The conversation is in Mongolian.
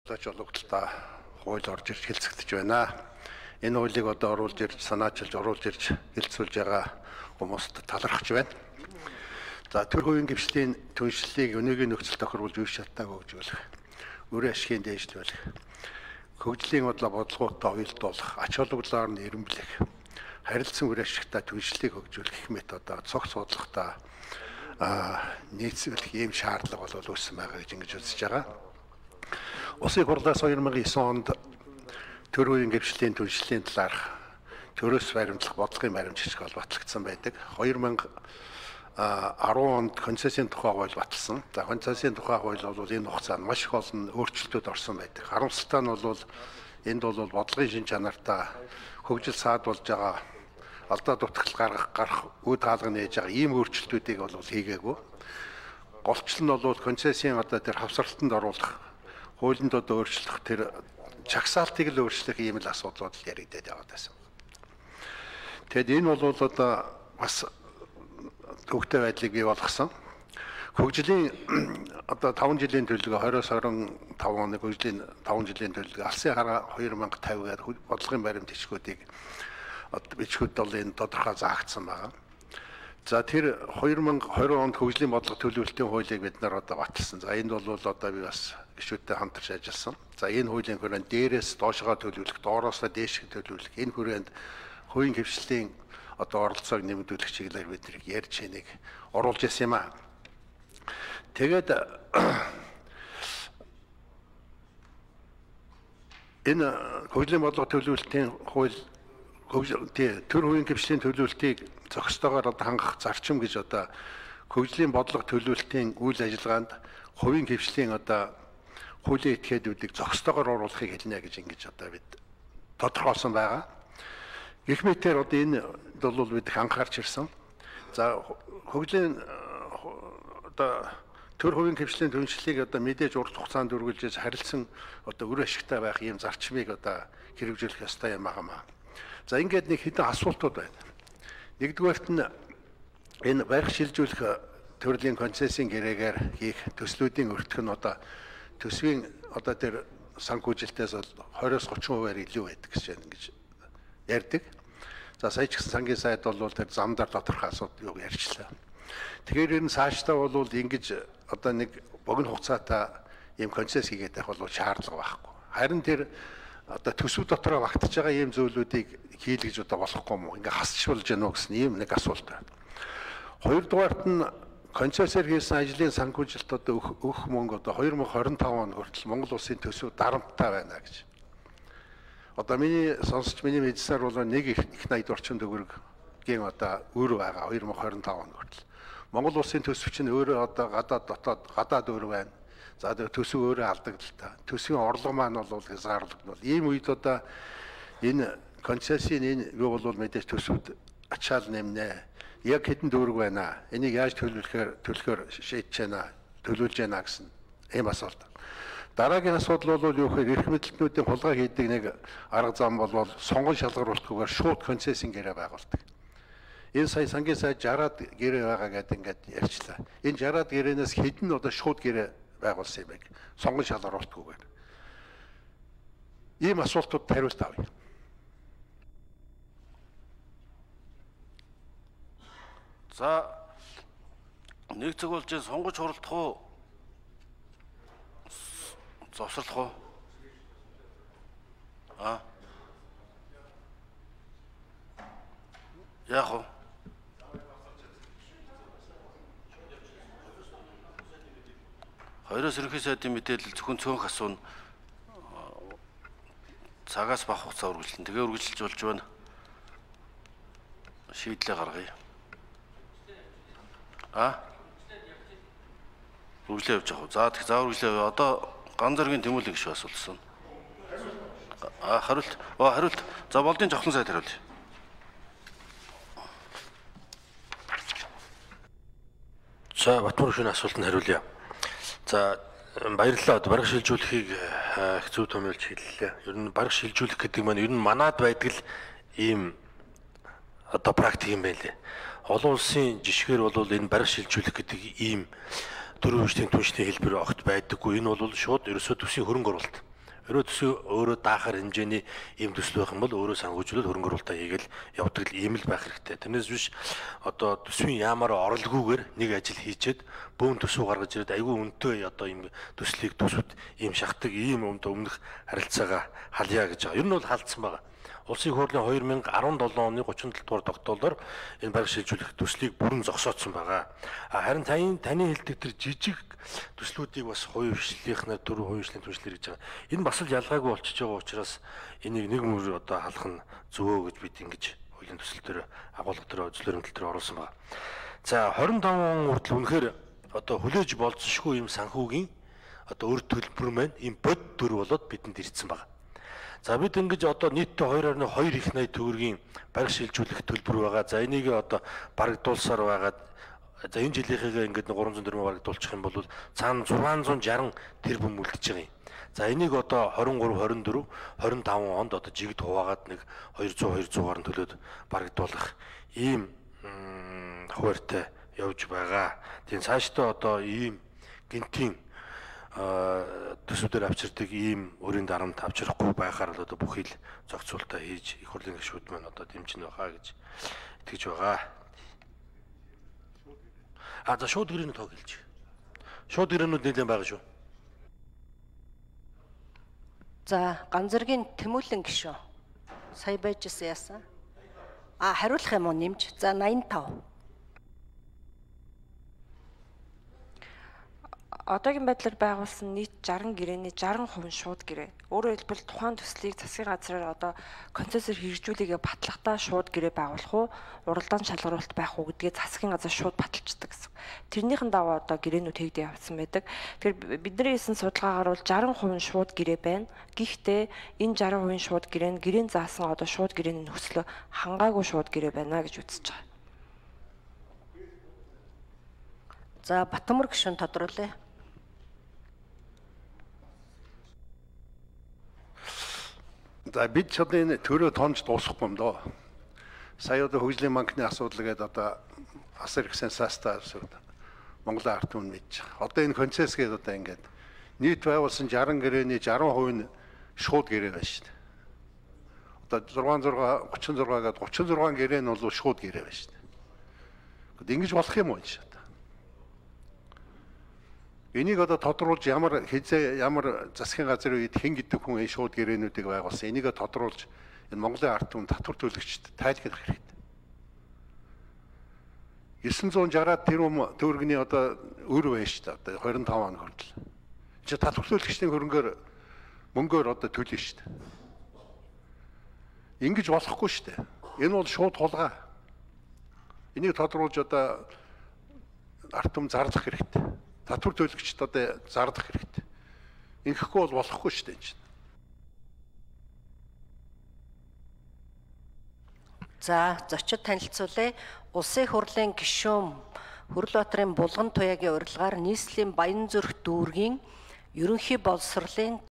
Тачологдолтой хууль орж ирж хэлцэгдэж байна. Энэ хуулийг одоо оруулж ирж, санаачилж, оруулж ирж хэлцүүлж байгаа хүмүүст талархаж байна. За төр хувийн гэрчлийн түншлэлийг өнөөгийн нөхцөл тохируулж үе шатааг хөгжүүлэх, өрийн ашигын дээшлүүлэх, хөгжлийн бодлоготой уялдуулах, ач холбогдлоор нь эренблэх, харилцан үр ашигтай түншлэлийг хөгжүүлэх мэт одоо цогц бодлоготой нийцүүлэх ийм шаардлага бол үүссэн байгаа гэж ингэж үзэж байгаа. Улсын хурлаас 2009 онд төр үеийн гэрчлийн түншлэлийн талаарх төрөөс баримтлах бодлогын баримт жишг бол батлагдсан байдаг. 2010 онд концессийн тухай хууль баталсан. За концессийн тухай хууль бол энэ хугацаанд маш их олон өөрчлөлтүүд орсон байдаг. Харамсалтай нь бол энд бол бодлогын шин чанартай хөгжил саадуулж байгаа алдаа дутагдлал гарах үе таалга нээж байгаа ийм өөрчлөлтүүдийг бол хийгээгүй. Голчлол нь бол концессийн одоо тэр хавсралтанд оруулах, хуулинд одоо өөрчлөх тэр чагсаалтыг л өөрчлөх ийм л асуудлууд яригдээд яваад байсан. Тэгэд энэ бол одоо бас төвөгтэй байдлыг бий болгосон. Хөгжлийн одоо 5 жилийн төлөвлөгөө 20-25 оны хөгжлийн 5 жилийн төлөвлөгөө алсын хараа 2050-аар бодлогын баримт бичгүүдийг бичгүүд бол энэ тодорхой заагдсан байна. За тэр 2020 онд хөгжлийн бодлого төлөвлөлтийн хуулийг бид нар одоо баталсан. За энд бол одоо би бас гишүүдтэй хамтарч ажилласан. За энэ хуулийн хүрээнд дээрээс доошоо төлөвлөх, доороос дээш төлөвлөх энэ хүрээнд хувийн хвшлийн одоо оролцоог нэмэгдүүлэх чиглэлээр бид нэг ярьж энийг оруулж ирсэн юм аа. Тэгээд энэ хөгжлийн бодлого төлөвлөлтийн хууль төр хувийн хвшлийн төлөвлөлтийг зохистойгоор одоо хангах зарчим гэж одоо хөгжлийн бодлого төлөвлөлтийн үйл ажиллагаанд хувийн хвшлийн одоо хуулийн этгээдүүдийг зохистойгоор оруулахыг хэлнэ гэж ингэж одоо бид тодорхойлсон байгаа. Гэх мэтээр одоо энэ бол бид анхаарч ирсэн. За хөгжлийн одоо төр хувийн хвшлийн түншлэлийг одоо мэдээж урт хугацаанд үргэлжлэж харилцан одоо үр ашигтай байх ийм зарчмыг одоо хэрэгжүүлэх ёстой юм аа. За ингээд нэг хэдэн асуултууд байна. Нэгдүгээрт нь энэ барих шилжүүлэх төрлийн концессийн гэрээгээр хийх төслүүдийн өртөх нь одоо төсвийн одоо тэр санхүүжилтээс бол 20-30% илүү байдаг гэж ярьдаг. За сая ч гэсэн сангийн сайд бол тэр замдаар тодорхой асуудал ярьчлаа. Тэгэхээр энэ цаашдаа бол ингэж одоо нэг богино хугацаатай ийм концесс хийгээд байх бол шаардлага байхгүй. Харин тэр одоо төсөв дотроо багтаж байгаа ийм зүйлүүдийг хийл гэж одоо болохгүй юм уу? Ингээ хасчулж яах вэ гэсэн ийм нэг асуулт байна. Хоёрдугаарт нь концессээр хийсэн ажлын санхүүжилт одоо өгөх мөнгө одоо 2025 он хүртэл Монгол улсын төсөв дарамттай байна гэж. Одоо миний сонсч миний мэдсээр бол нэг их 80 орчим төгрөгийн одоо өөр байгаа 2025 он хүртэл. Монгол улсын төсөв чинь өөрөө одоо гадаад өөр байна. За төсөв өөрөө алдагдaltaа. Төсвийн орлого маань бол хязгаарлагдвал ийм үед одоо энэ концессийн энэ юу бол мэдээж төсөвд ачаал нэмнэ. Яг хэдэн дүүрэг байна. Энийг яаж төлөхөөр шийдэж байна, төлөвлөж байна гэсэн ийм асуулт. Дараагийн асуудал бол юу гэхээр эрх мэдэлтнүүдийн хулгай хийдэг нэг арга зам бол сонгон шалгаруулахгүйгээр шууд концессийн гэрээ байгуулдаг. Энэ сая сангийн сайд 60-аад гэрээ байгаа гэдэг ингээд ярьчлаа. Энэ 60-аад гэрээнээс хэдэн одоо шууд гэрээ байгуулсан юм бэ? Сонгон шалгаруулахгүйгээр. Ийм асуултууд хариулт авъя. За нэг цаг болж сонгож хуралдах уу? Завсарлах уу? Яах вэ? Хоёроос ерөнхий сайдын мэдээлэл зөвхөн цөөнх асууна. Цагаас бага хугацаа үргэлжлэн. Тэгээ үргэлжилж болж байна. Шийдлээ гаргая. Үргэлжлээ явж явах. За тэг за үргэлжлээ. Одоо Ганзаргийн Тэмүүлэн гишүү асуулсан. Хариулт. Хариулт. За болдын Жавхлан сайд хариулъя. За Батмөр гишүүний асуултанд хариулъя. За баярлалаа. Бараг шилжүүлэхийг их зөв томьёолж хэллээ. Ер нь бараг шилжүүлэх гэдэг маань ер нь манад байдаг л ийм одоо практик юм байлээ. Олон улсын жишгээр бол энэ бараг шилжүүлэх гэдэг ийм төрийн хөгжлийн түншлийн хэлбэр огт байдаггүй. Энэ бол шууд ерөөсөө төсвийн хөрөнгө оруулалт. Хэрвээ төсөө өөрөө даахаар хэмжээний ийм төсөл байх юм бол өөрөө санхүүжүүлээд хөрөнгө оруулалтаа хийгээл явдаг ийм л байх хэрэгтэй. Тэрнээс биш одоо төсвийн яамаар оролгүйгээр нэг ажил хийчээд бөөн төсөв гаргаж ирээд айгүй үнэтэй одоо ийм төслийг төсвөд ийм шахдаг ийм өмнөх харилцаагаа халъя гэж байгаа. Ер нь бол халдсан байгаа. Улсын их хурлын 2017 оны 37 дугаар тогтоолоор энэ бараг шилжүүлэх төслийг бүрэн зогсоодсон байгаа. Харин таны хэлдэг тэр жижиг төслүүдийг бас хувийн хвшлийнхнаар дөрвөн хувийн хвшлийн түншлэр гэж байгаа. Энэ бас л ялгаагүй болчихж байгаа учраас энийг нэг мөр одоо халах нь зөвөө гэж бид ингэж хуулийн төсөл дээр агуулга дээр үзлэрэмтэл дээр оруулсан байна. За 25 он хүртэл үнэхээр одоо хүлээж болцсошгүй юм санхүүгийн одоо өр төлбөр маань ийм бод төр болоод бидэнд ирсэн байна. За бид ингэж одоо нийтдээ 2.2 их 80 төгрөгийн бараг шилжүүлэх төлбөр байгаа. За энийг одоо барагдуулсаар байгаад за энэ жилийнхээ ингээд 300 төгрөг барагдуулчих юм бол цаана 660 тэрбум үлдэж байгаа юм. За энийг одоо 23, 24, 25 онд одоо жигд хуваагаад нэг 200 гаруй төлөөд барагдуулах ийм хуваарьтай явж байгаа. Тийм цаашдаа одоо ийм гинтийн төсвөдөр авчирдаг ийм өрийн дарамт авчрахгүй байхаар л одоо бүхий л зохицуулалтаа хийж их хурлын гишүүд маань одоо дэмжинэ байхаа гэж итгэж байгаа. За шууд гэрээний тоог хэлж. Шууд гэрээнүүд нэлээд байгаа шүү. За Ганцзэргийн Тэмүүлэн гишүүн сая байжсэн яасан? Хариулах юм уу нэмж? За 85. Одоогийн байдлаар байгуулсан нийт 60 гэрээний 60% шууд гэрээ. Өөрөөр хэлбэл тухайн төслийг засгийн газраар одоо концессор хэрэгжүүлэгээ батлахдаа шууд гэрээ байгуулах уу, уралдаан шалгаруулалт байх уу гэдгээ засгийн газар шууд баталчихдаг гэсэн. Тэрнийхэн дагуу одоо гэрээнүүд хийгдээ явсан байдаг. Тэгэхээр бидний хийсэн судалгаагаар бол 60% шууд гэрээ байна. Гэхдээ энэ 60% шууд гэрээ нь гэрээний заасан одоо шууд гэрээний нөхцөлөө хангаагүй шууд гэрээ байна гэж үзэж байгаа. За Батмөр гишүүн тодруулъя. За бид ч одоо энэ төрөө тонж дуусахгүй юм доо. Сая одоо хөгжлийн банкны асуудал гэдэг одоо асар их сенсацтай Монголын ард түмэн мэдж байгаа. Одоо энэ концесс гэдэг одоо ингээд нийт байгуулсан 60 гэрээний 60% нь шууд гэрээ байна шүү дээ. Одоо 36 гэдэг 36 гэрээ нь бол шууд гэрээ байна шүү дээ. Тэгэд ингэж болох юм уу энэ? Энийг одоо тодруулж ямар засгийн газрын үед хэн гэдэг хүн энэ шууд гэрээнүүдийг байгуулсан. Энийг тодруулж энэ Монголын ард түмэн татвар төлөгчд тайлбарлах хэрэгтэй. 960 тэрбум төгрөгийн одоо өр байна шүү дээ. Одоо 25 он хүртэл. Чи татвар төлөгчдийн мөнгөөр одоо төлнө шүү дээ. Ингэж болохгүй шүү дээ. Энэ бол шууд хулгай. Энийг тодруулж одоо ард түмэн зарлах хэрэгтэй. Татвар төлөгчд одоо зардах хэрэгтэй. Ингэхгүй бол болохгүй шүү дээ энэ чинь. За зочид танилцуулъя. Улсын их хурлын гишүүн Хөрлөбаатарын Булган Туяагийн урилгаар нийслэлийн Баянзүрх дүүргийн ерөнхий боловсролын